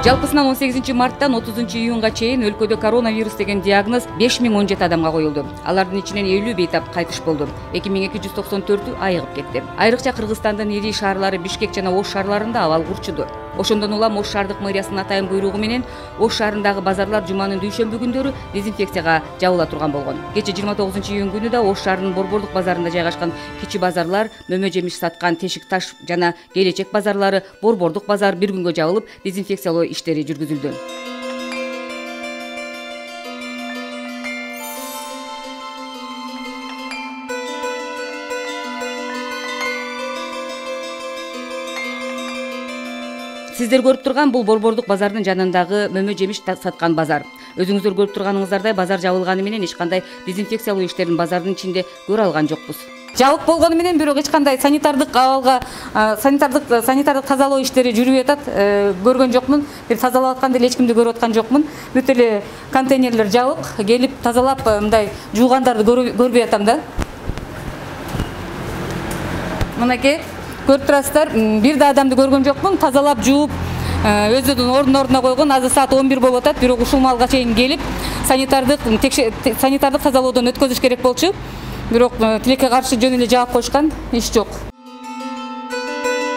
Жалпысынан 18 марттан 30 июнга чейин өлкөдө коронавирус деген диагноз 5017 адамга коюлду. Алардын ичинен 50 бейтап кайтыш болду. 2294 айыгып кетти. Айрыкча Кыргызстандын ири шаарлары Бишкек жана Ош шаарларында абал курчуду. Ошондон улам Ош шаардык мэриясынын атайын буйругу менен Ош шаарындагы базарлар жуманын дүйшөмбү күндөрү дезинфекцияга жабыла турган болгон. Кечээ 29 июнь күнү да Ош шаарынын Борбордук базарында жайгашкан кичи базарлар, мөмө жемиш саткан Тешик таш жана Келечек базарлары, Борбордук базар бир күнгө жабылып, дезинфекциялоо иштери жүргүзүлдү. Сиздер көрүп турган бул Борбордук базардын жанындагы мөмө жемиш саткан базар. Өзүңүздөр көрүп турганыңыздардай базар жабылганы менен эч кандай дезинфекциялоо иштерин базардын ичинде көрө алган жокпуз. Жабык болгону менен бирок эч кандай санитардык абалга санитардык тазалоо иштери жүрүп атат. Көргөн жокмун. Бир тазалап атканда эле эч кимди көрүп аткан жокмун. Бүт эле контейнерлер жабык. Келип тазалап мындай жуугандарды көрбөй атам да. Мынакей көрүп турасыздар, бир да адамды көргөн жокмун. Тазалап жууп, өздөрүнүн ордуна койгон. Азыр саат 11 болуп атат, бирок ушул малга чейин келип санитардык тазалоодон өткөзүш керек болчу. Бирок тилекке каршы жөн эле жаап коюшкан, иш жок.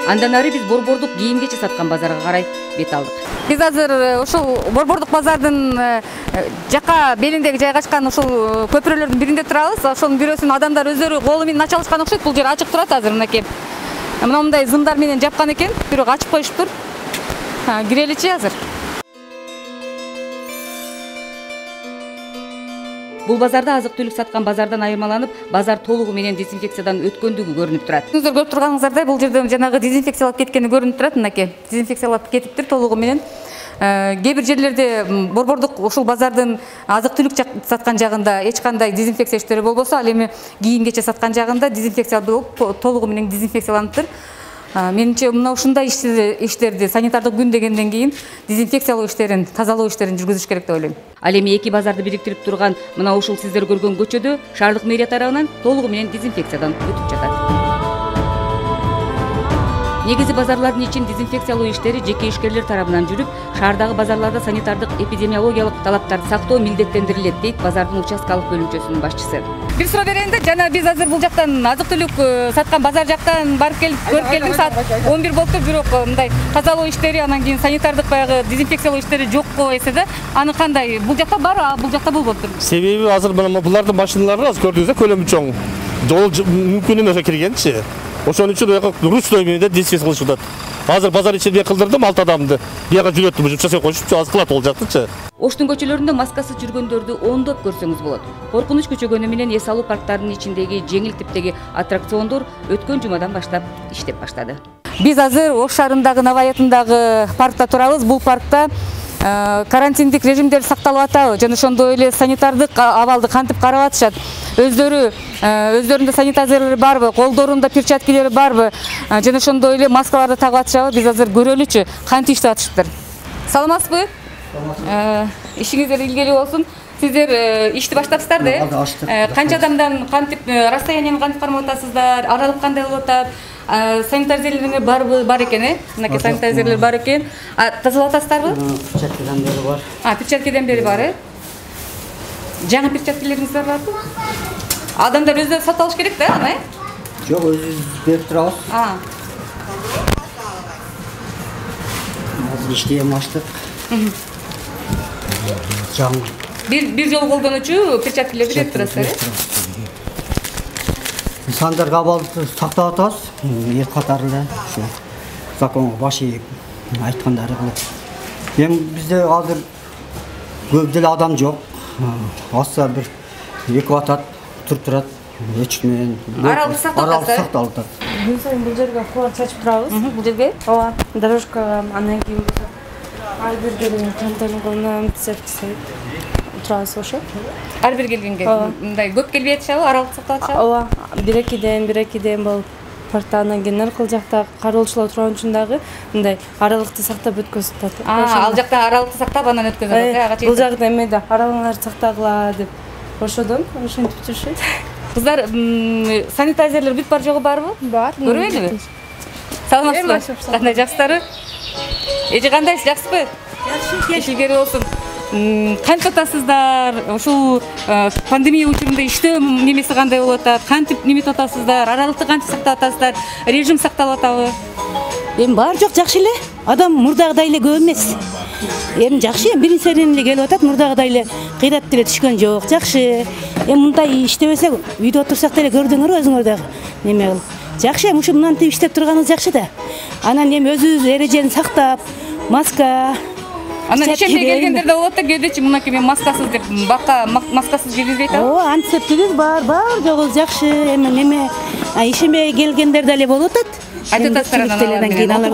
Андан ары биз Борбордук кийим-кечи саткан базарга карай бет алдык. Биз азыр ушул Борбордук базардын жака белиндеги жайгашкан ушул көпүрөлөрдүн биринде турабыз. Ошонун бирөөсүн адамдар өздөрү колу менен ача алышкан окшойт. Бул жер ачык турат азыр мынакей. Мындай зымдар менен жапкан экен, бирок ачып коюшуптур. Киреличи азыр. Бул базарда азык-түлүк саткан базардан айырмаланып, базар толугу менен дезинфекциядан өткөндүгү көрүнүп турат. Сиздер көрүп турганыңыздардай, бул жерде жанагы дезинфекциялап кеткени көрүнүп турат, мынакей. Дезинфекциялап кетиптир толугу менен. Кээ бир жерлерде Борбордук ушул базардын азык-түлүк саткан жагында эч кандай дезинфекция иштери болбосо, ал эми кийим-кечи саткан жагында дезинфекция болуп, толугу менен дезинфекцияланыптыр. Менимче мына ушундай иштерди санитардык күн дегенден кийин дезинфекциялоо иштерин, тазалоо иштерин жүргүзүш керек деп ойлойм. Ал эми эки базарды бириктирип турган мына ушул сиздер көргөн көчөдө шаардык мэрия тарабынан толугу менен дезинфекциядан өтүп жатат. Негизи базарлардын ичин дезинфекциялоо иштери жеке ишкерлер тарабынан жүрүп, шаардагы базарларда санитардык эпидемиологиялык талаптарды сактоо милдеттендирилет, дейт базардын участкалык бөлүмчөсүнүн башчысы. Бир суроо берейин да, жана биз азыр бул жактан азык-түлүк саткан базар жактан барып көрүп келдик, саат 11 болуптур, бирок мындай тазалоо иштери, анан кийин санитардык баягы дезинфекциялоо иштери жокко эсе да, аны кандай? Бул жакта бар, а бул жакта болбоптур. Себеби азыр мына булардын машиналары азыр көрдүңүздөр көлөмү чоң. Жол мүмкүн эмес киргенчи. Ошон үчүн ручной менен дезинфекция кылышып атат. Азыр базар ичинде кылдырдым 6 адамды. Бияга жүрөттү, бул жасай коюшупчу, аз кылат ол жактычы. Оштун көчөлөрүндө маскасыз жүргөндөрдү ондоп көрсөңүз болот. Коркунуч күчөгөнү менен эс алуу парктарынын ичиндеги жеңил типтеги аттракциондор өткөн жумадан баштап иштеп баштады. Биз азыр Ош шаарындагы Наваятындагы паркта турабыз. Бул паркта карантиндик режимдер сакталып атабы жана ошондой эле санитардык абалды кантип карап атышат, өздөрүндө санитайзерлери барбы, колдорунда перчаткилери барбы жана ошондой эле маскаларды тагып атышабы, биз азыр көрөлүчү кантип иштеп атышыптыр. Саламатсызбы? Ишиңиздер илгери болсун. Сиздер ишти баштапсыздар да? Канча адамдан кантип расстоянияны кантип кармап атасыздар? Аралык кандай болуп атат? Санитайзерлер бар экен, мынакей санитайзерлер бар экен. Тазалап атасыздарбы? Перчаткадан бери бар. Перчаткадан бери бар, Жаңы перчаткалериңиз барбы? Адамдар өздөрү сатып алыш керек да, аны? Жок, өзүбүз берип турабыз. Азыр иштеп аштык. Жаңы. Бир жолу колдонуучу перчаткалерди берип турасыздар, Сандарга абалды сактап атабыз. Эл катары эле ушу законго баш ийип айткандары кылып. Эми бизде азыр көп деле адам жок. Азса бир 2 атат туруп турат. Эч менен аралык сакталып атат. Күн сайын бул жерге кулар чачып турабыз. Бул жерге? Ооба, дорожкага, андан кийин ар бир келген контейнерге тизеп турабыз ошо. Ар бир келгенге мындай көп келбей атышабы, аралык сактап атышабы? Ооба, бир-экиден болуп паркта, андан кийин наркыл жакта кароолчулар турган үчүн дагы мындай аралыкты сактап өткөзүп атат. Ал жакта аралыкты сактап анан өткөзүп атат. Бул жакта эмеде аралыгыңарды сактагыла деп ошодон ошентип жүрүшөт. Кыздар, санитайзерлер бүт бар жогу барбы? Бар. Көрбөйлүбү? Саламатсызбы? Кандай жакшысыздарбы? Эже кандайсыз, жакшысызбы? Ишилгери болсун. Кантип атасыздар? Ушул пандемия учурунда иштөө немеси кандай болуп атат? Кантип неметип атасыздар? Аралыкты кантип сактап атасыздар? Режим сакталып атабы? Эми баары жок жакшы эле. Адам мурдагыдай эле көп эмес. Эми жакшы, биринчи эле келип атат, мурдагыдай эле кыйрат деле түшкөн жок. Жакшы. Эми мындай иштебесек, үйдө отурсак деле көрдүңөр өзүңөр дагы. Неме кылып. Жакшы, эми ушу мынантип иштеп турганыбыз жакшы да. Анан эми өзүбүз эрежени сактап, маска. Анан ишенбей келгендер да болот да, кээдечи мынакей мен маскасыз деп бакка маскасыз киргизбей атабы? Ооба, антисептигибиз бар жогубуз жакшы. Эми неме ишенбей келгендер деле болуп атат. Айтып атасыздар анан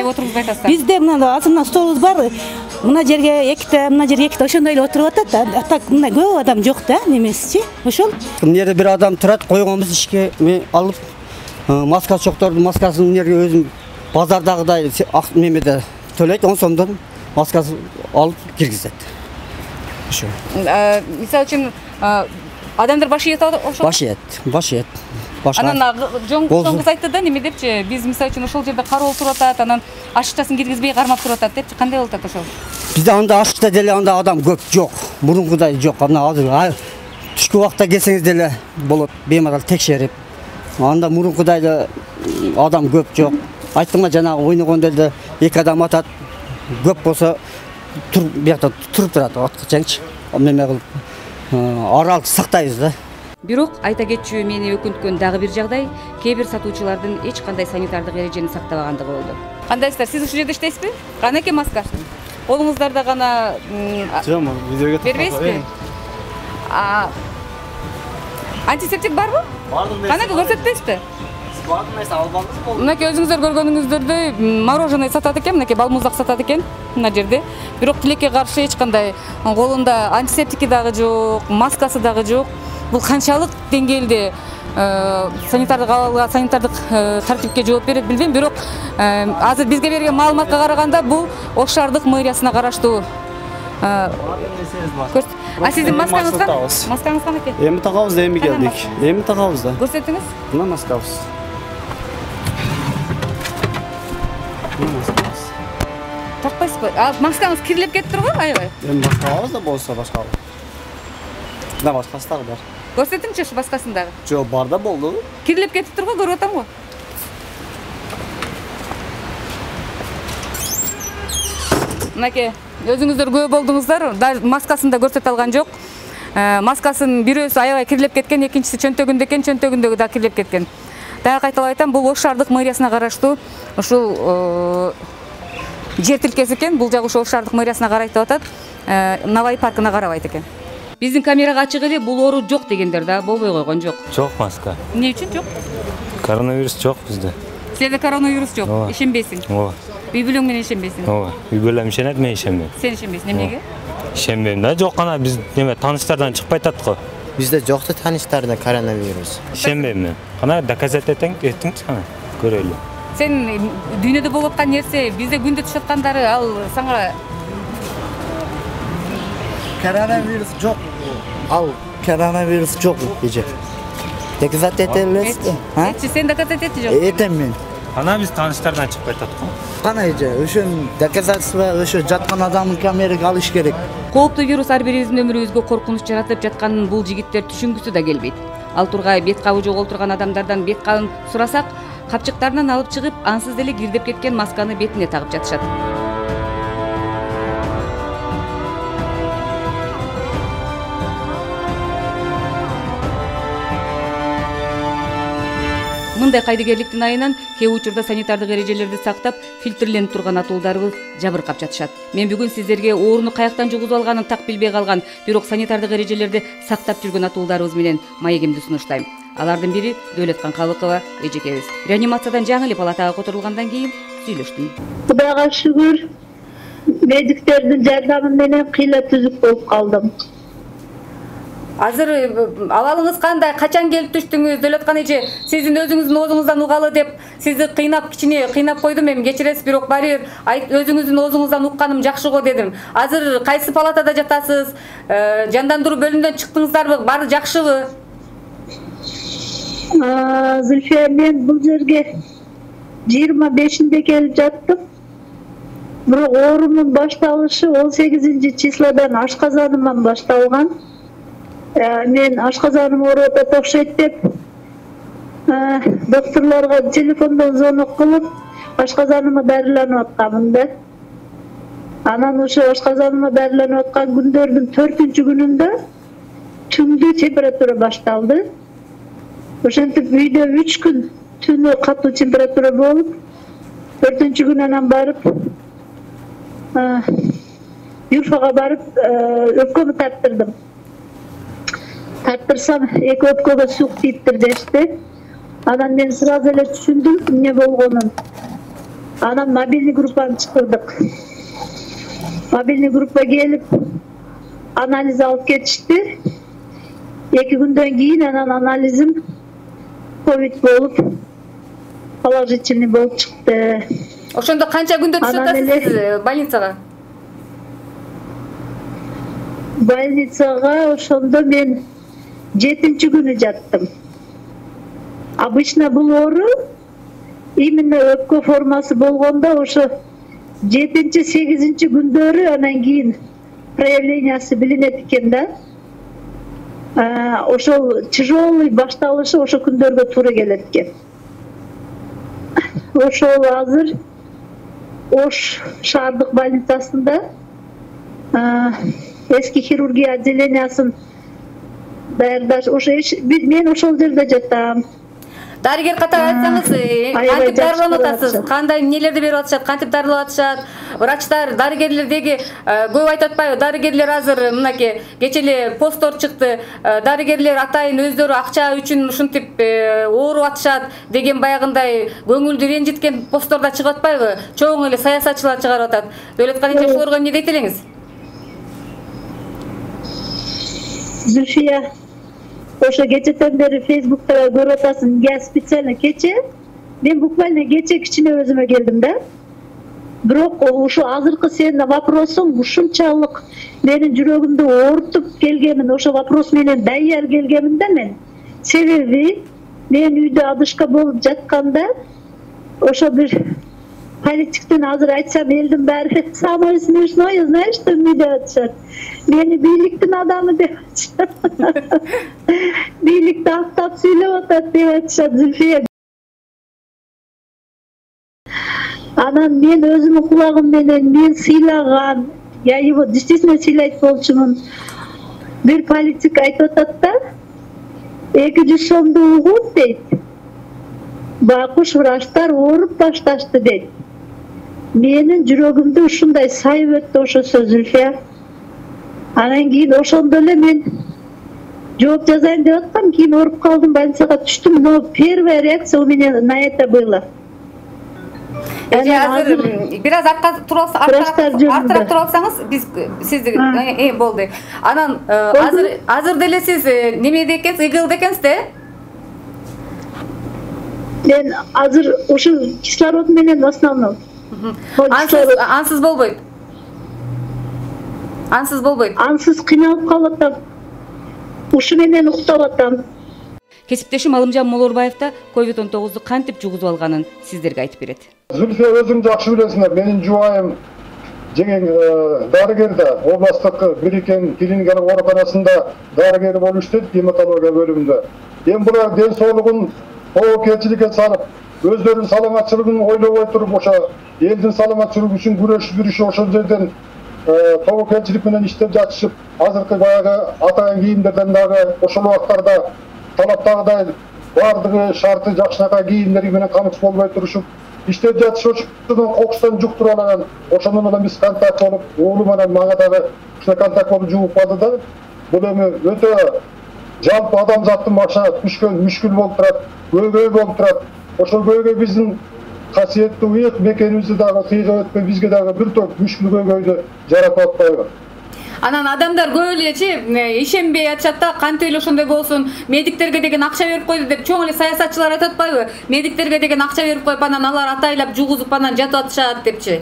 отургузбай атасыздар. Бизде мына азырына столубуз бар. Мына жерге эките, мына жерге эките ошондой эле отуруп атат да. Так мына көп адам жок да, немесичи. Ошол. Мына жерде бир адам турат, койгонбуз ишке алып маска чокторду, маскасын мына жерге өзүм базардагыдай немеде төлөйт, 10 сомдон маскасын алып киргизет. Ошо. Мисалы үчүн адамдар баш ийет ошол. Баш ийет. Анан жоңгуз айтты да, неме депчи, биз мисалы үчүн ошол жерде кароол туруп атат, анан ашыкчасын киргизбей кармап туруп атат депчи. Кандай болуп атат ошол? Бизде анда ашыкча деле анда адам көп жок. Мурункудай жок. Анда азыр түшкү убакта келсеңиз деле болот, бемарал текшерип. Анда мурункудай эле адам көп жок. Айттымга жанагы ойногондорду эки адам атат. Көп болсо биякта туруп турат, аткычаңчы. Неме кылып аралыкты сактайбыз да. Бирок айта кетчү мени өкүнткөн дагы бир жагдай, кээ бир сатуучулардын эч кандай санитардык эрежени сактабагандыгы болду. Кандайсыздар? Сиз ушул жерде иштейсизби? Канаке маска. Колуңуздарда гана Жок, видеого бербейсизби? Антисептик барбы? Канаке көрсөтпөйсүзбү? Мынакей өзүңүздөр көргөнүңүздөрдөй мороженое сатат экен, мынакей балмуздак сатат экен мына жерде. Бирок тилекке каршы эч кандай колунда антисептики дагы жок, маскасы дагы жок. Бул канчалык деңгээлде санитардык тартипке жооп берет билбейм, бирок азыр бизге берген маалыматка караганда бул Ош шаардык мэриясына караштуу. Сиздин маскаңыз кан? Маскаңыз кан экен? Эми тагабыз да, эми келдик. Эми тагабыз да. Көрсөтүңүз. Мына маскабыз. Такпайсызбы? Маскаңыз кирилип кетип турбу? Аябай. Эми башкабыз да болсо башка. Да башкасы дагы бар. Көрсөтүңчү ушу башкасын дагы. Жок, бар да болду. Кирилип кетип турбу, көрүп атам го. Мынакей, өзүңүздөр көп болдуңуздар, маскасын да көрсөтө алган жок. Маскасын бирөөсү аябай кирилип кеткен, экинчиси чөнтөгүндө экен, чөнтөгүндөгү да кирилип кеткен. Дагы кайталап айтам, бул Ош шаардык мэриясына караштуу ушул жер тилкеси экен. Бул жагы Ош шаардык мэриясына карайт деп атат. Навай паркына карабайт экен. Биздин камерага ачык эле бул оору жок дегендер да болбой койгон жок. Жок маска. Эмне үчүн жок? Коронавирус жок бизде. Сизде коронавирус жок, ишенбейсиң? Ооба. Үй бүлөң менен ишенбейсиң? Ооба. Үй бүлөм ишенет, мен ишенбейм. Сен ишенбейсиң, эмнеге? Ишенбейм да, жок гана биз неме тааныштардан чыкпай атат го. Бизде жокты тааныштарда коронавирус. Ишенбейм мен. Кана доказать этиңчи кана, көрөлү. Сен дүйнөдө болуп аткан нерсе, бизде күндө түшүп аткандары ал сага Коронавирус жок. Ал коронавирус жок эже. Доказать этелес. Сен доказать этти жок. Этем мен. Кана биз тааныштардан чыкпай атат го. Кана эже, ошон доказательство ошо жаткан адамдын камерага алыш керек. Кооптуу вирус ар бирибиздин өмүрүбүзгө коркунуч жаратып жатканын бул жигиттер түшүнгүсү да келбейт. Ал тургай бет кабы жок олтурган адамдардан бет кабын сурасак, капчыктарынан алып чыгып, ансыз деле кирдеп кеткен масканы бетине тагып жатышат. Мындай кайдыгерликтин айынан кээ учурда санитардык эрежелерди сактап, фильтрленип турган атуулдарыбыз жабыркап жатышат. Мен бүгүн сиздерге ооруну каяктан жугузуп алганын так билбей калган, бирок санитардык эрежелерди сактап жүргөн атуулдарыбыз менен маегимди сунуштайм. Алардын бири Дөөлөткан Калыкова эжекебиз. Реанимациядан жаңы эле палатага которулгандан кийин сүйлөштүм. Кудайга шүгүр, медиктердин жардамы менен кыйла түзүк болуп калдым. Азыр абалыңыз кандай? Качан келип түштүңүз? Дөөлөткан эже, сиздин өзүңүздүн оозуңуздан угалы деп сизди кичине кыйнап койдум, эми кечиресиз, бирок баары бир өзүңүздүн оозуңуздан укканым жакшы го дедим. Азыр кайсы палатада жатасыз? Жандандыруу бөлүмүнөн чыктыңыздарбы? Баары жакшыбы? Зульфия, мен бул жерге 25-нде келип жаттым. Бирок оорунун башталышы 18 числодан ашказанымдан башталган. Мен ашказаным ооруп атат окшойт деп докторлорго телефондон звонок кылып ашказаныма дарыланып атканмын да. Анан ошо ашказаныма дарыланып аткан күндөрдүн 4-күнүндө түндү температура башталды. Ошентип үйдө 3 күн түнү катуу температура болуп, 4-күн анан барып Юрфага барып өпкөмү тарттырдым. Тарттырсам эки өпкөгө сук тийиптир дешти. Анан мен сразу эле түшүндүм эмне болгонун. Анан мобильный группаны чакырдык. Мобильный группа келип анализ алып кетишти. 2 күндөн кийин анан анализим ковид болуп, положительный болуп чыкты. Ошондо канча күндө түшүп атасыз больницага? Больницага ошондо мен 7-күнү жаттым. Обычно бул оору именно өпкө формасы болгондо ошо 7-8 күндөрү анан кийин проявлениясы билинет экен да. Ошол тяжелый башталышы ошо күндөргө туура келет экен. Ошол азыр Ош шаардык больницасында эски хирургия отделениясын даярдаш. Мен ошол жерде жатам. Дарыгер катары айтсаңыз, кантип дарыланып атасыз? Кандай эмнелерди берип атышат? Кантип дарылап атышат? Врачтар, дарыгерлер деги көп айтып атпайбы? Дарыгерлер азыр мынакей кече эле посттор чыкты. Дарыгерлер атайын өздөрү акча үчүн ушинтип ооруп атышат деген баягындай көңүлдү ренжиткен постторда чыгып атпайбы? Чоң эле саясатчылар чыгарып атат. Дөөлөткалиевич, ошолорго эмне дейт элеңиз? Зульфия, ошо кечеден бери Facebook'та көрүп атасың, я специально кече, мен буквально кече кичине өзүмө келдим да. Бирок ошо азыркы сенин вопросуң ушунчалык менин жүрөгүмдү оорутуп келгенин, ошо вопрос менен даяр келгенмин да мен. Себеби мен үйдө адышка болуп жатканда ошо бир политиктен азыр айтсам элдин баары самое смешное, знаешь, что мне деп атышат. Мени бийликтин адамы деп атышат. Бийликти актап сүйлөп атат деп атышат, Зульфия. Анан мен өзүмдүн кулагым менен мен сыйлаган, я его действительно сыйлайт болчумун. Бир политик айтып атат да, 200 сомду угуп дейт. Бакуш врачтар ооруп башташты дейт. Менин жүрөгүмдү ушундай сайып өттү ошо сөз, Зульфия. Анан кийин ошондо эле мен жооп жазайын деп аткам, кийин ооруп калдым, больницага түштүм, но первая реакция у меня на это было. Азыр бир аз артыраак туруп алсаңыз, биз сизди болду. Анан азыр деле сиз немеде экенсиз, ИГЛде экенсиз да? Мен азыр ушул кислород менен в основном. Ансыз болбойт. Ансыз болбойт. Ансыз кыйналып калып атам. Ушу менен уктап атам. Кесиптешим Алымжан Молорбаев да COVID-19 кантип жугузуп алганын сиздерге айтып берет. Зульфия, өзүң жакшы билесиңер, менин жубайым жеңең дарыгер да, областтык Бирикен клиникалык ооруканасында дарыгер болуп иштейт, гематология бөлүмүндө. Эми булар ден соолугун тобокелчиликке салып, өздөрүнүн саламатчылыгын ойлобой туруп, ошо элдин саламатчылыгы үчүн күрөшүп жүрүшүп, ошол жерден тобокелчилик менен иштеп жатышып, азыркы баягы атайын кийимдерден дагы ошол убактарда талаптагыдай баардыгы шарты жакшынакай кийимдери менен камыш болбой турушуп иштеп жатышып, ошондон кокустан жуктуруп алган. Ошондон улам биз контакт болуп, уулум менен мага дагы ушундай контакт болуп жугуп калды да. Бул эми өтө жалпы адамзаттын башына түшкөн мүшкүл болуп турат, көйгөй болуп турат. Ошол көйгөй биздин касиеттүү ыйык мекенибизди дагы тыйгып өтпөй, бизге дагы бир топ мүшкүл көйгөйдү жаратып атпайбы? Анан адамдар көп элечи ишенбей атышат да, кантип эле ошондой болсун, медиктерге деген акча берип койду деп чоң эле саясатчылар айтып атпайбы? Медиктерге деген акча берип коюп, анан алар атайлап жугузуп анан жатып атышат депчи.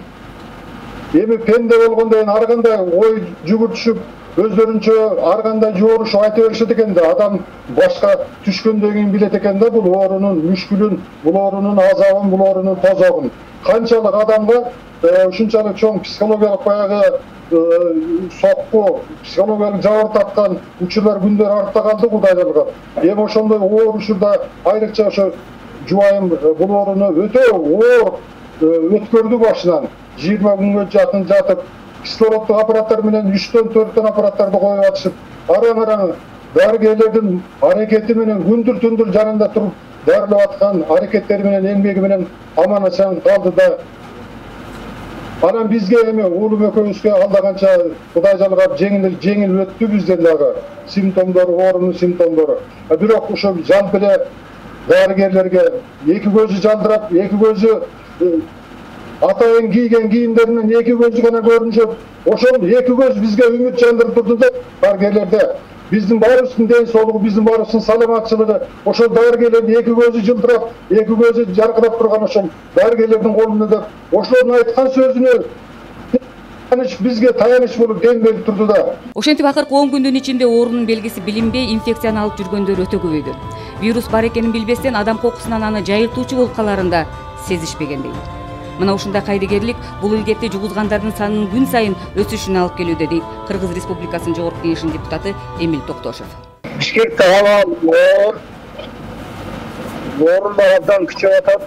Эми пенде болгондон ар кандай ой жүгүртүшүп, өздөрүнчө ар кандай жоорушуп айта беришет экен да. Адам башка түшкөндөн кийин билет экен да бул оорунун мүшкүлүн, бул оорунун азабын, бул оорунун тозогун. Канчалык адамга ушунчалык чоң психологиялык баягы сокку, психологиялык жабыр тарткан учурлар күндөр артта калды Кудай жалгап. Эми ошондой оор учурда айрыкча ошо жубайым бул ооруну өтө оор өткөрдү башынан. 20 күнгө жакын жатып, кислороддук аппараттар менен 3-төн 4төн аппараттарды коюп атышып, араң дарыгерлердин аракети менен күндүр-түндүр жанында туруп дарылап аткан аракеттери менен эмгеги менен аман эсен калды да. Анан бизге эми уулум экөөбүзгө алда канча Кудай жалгап жеңил өттү бизден дагы симптомдору, оорунун симптомдору. Бирок ошо жалп эле дарыгерлерге эки көзү жалдырап, эки көзү атайын кийген кийимдеринен эки көзү гана көрүнүшөт. Ошол эки көз бизге үмүт жандырып турду да дарыгерлерде. Биздин баарыбыздын ден соолугу, биздин баарыбыздын саламатчылыгы, ошол дарыгерлердин эки көзү жылдырап, эки көзү жаркырап турган ошол дарыгерлердин колунда деп, ошолордун айткан сөзүнө бизге таяныч болуп дем берип турду да. Ошентип акыркы 10 күндүн ичинде оорунун белгиси билинбей, инфекцияны алып жүргөндөр өтө көбөйдү. Вирус бар экенин билбестен адам кокусунан аны жайылтуучу болуп каларын да сезишпегендей. Мына ушундай кайдыгерлик бул илдетти жугузгандардын санынын күн сайын өсүшүнө алып келүүдө, дейт Кыргыз Республикасынын Жогорку Кеңешинин депутаты Эмил Токтошев. Бишкекте аба оорулар абдан күчөп атат.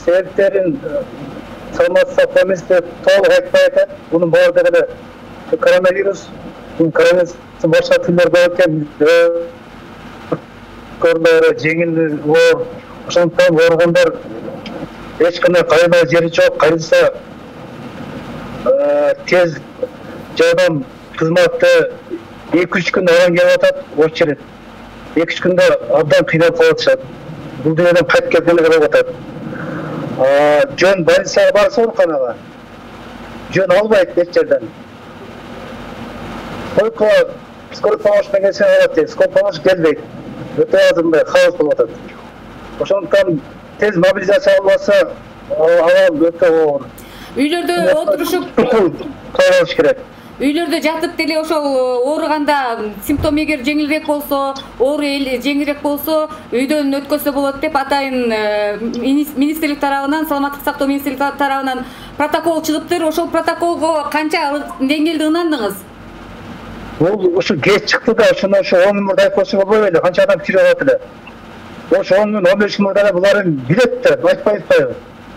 Себептерин саламаттык сактоо министри толук айтпай атат. Бунун баардыгы эле коронавирус, коронавирустун башка түрлөрү бар экен. Көрдө жеңил оор, ошондуктан ооругандар эч кандай кайрылар жери жок. Кайрылса тез жардам кызматы 2-3 күн аран келип атат, очередь. 2-3 күндө абдан кыйналып калышат. Бул дүйнөдөн кайтып келгенде болуп атат. Жөн больницага барса ооруканага жөн албайт эч жерден. Только скорый помощь менен келсе алат, скорый помощь келбейт. Өтө аз мындай хаос болуп атат. Ошондуктан тез мобилизация албаса, ал өтө оор. Үйлөрдө отурушуп калыш керек. Үйлөрдө жатып деле ошол ооруганда симптом эгер жеңилирээк болсо, оору жеңилирээк болсо, үйдөн өткөзсө болот деп атайын министрлик тарабынан, саламаттык сактоо министрлиги тарабынан протокол чыгыптыр. Ошол протоколго канча деңгээлде ынандыңыз? Бул ушу кеч чыкты да, ошондо 10 мурда айткансы болбой эле, канча адам кирип атат эле. Ошо 10 миң 15 миңда буларын билет да, айтпайбы?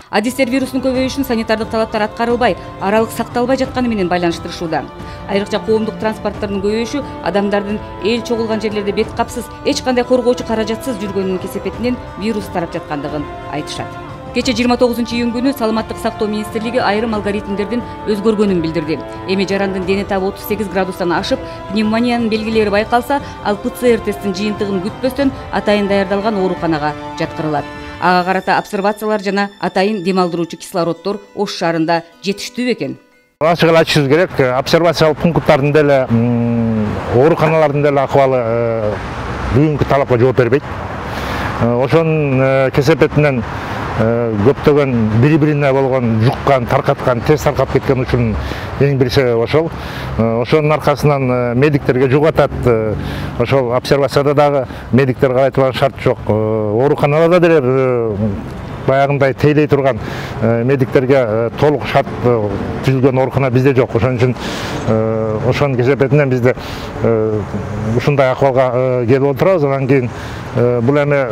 Адистер вирустун көбөйүшүн санитардык талаптар аткарылбай, аралык сакталбай жатканы менен байланыштырышууда. Айрыкча коомдук транспорттардын көбөйүшү адамдардын эл чогулган жерлерде бет капсыз, эч кандай коргоочу каражатсыз жүргөнүнүн кесепетинен вирус тарап жаткандыгын айтышат. Кече 29-июнь күнү саламаттык сактоо министрлиги айрым алгоритмдердин өзгөргөнүн билдирди. Эми жарандын дене табы 38 градустан ашып, пневмониянын белгилери байкалса, ал ПЦР тесттин жыйынтыгын күтпөстөн атайын даярдалган ооруканага жаткырылат. Ага карата обсервациялар жана атайын дем алдыруучу кислороддор Ош шаарында жетиштүү экен. Ачык эле айтышыбыз керек, обсервациялык пункттардын деле, ооруканалардын деле акыбалы бүгүнкү талапка жооп бербейт. Ошонун кесепетинен көптөгөн бири-бирине болгон жуккан, таркаткан, тез таркап кеткен учурун эң бир себеби ошол. Ошонун аркасынан медиктерге жугатат. Ошол обсервацияда дагы медиктерге айтылган шарт жок. Ооруканаларда деле баягындай тейлей турган медиктерге толук шарт түзүлгөн оорукана бизде жок. Ошон үчүн ошонун кесепетинен бизде ушундай акыбалга келип отурабыз. Анан кийин бул эми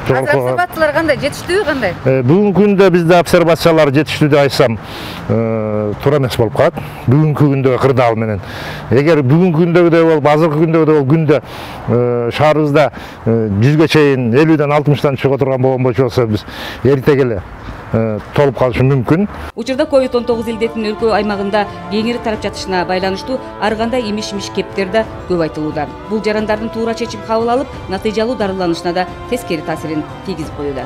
обсервациялар кандай, жетиштүү кандай? Бүгүнкү күндө бизде обсервациялар жетиштүү деп айтсам туура эмес болуп калат. Бүгүнкү күндө кырдаал менен. Эгер бүгүнкү күндөгүдөй болуп, азыркы күндөгүдөй күндө шаарыбызда 100ге чейин 50ден 60тан чыга турган болгон болсо биз эртеге эле толуп калышы мүмкүн. Учурда COVID-19 илдетинин өлкө аймагында кеңири тарап жатышына байланыштуу ар кандай имиш-имиш кептер да көп айтылууда. Бул жарандардын туура чечим кабыл алып, натыйжалуу дарыланышына да тескери таасирин тийгизип коюуда.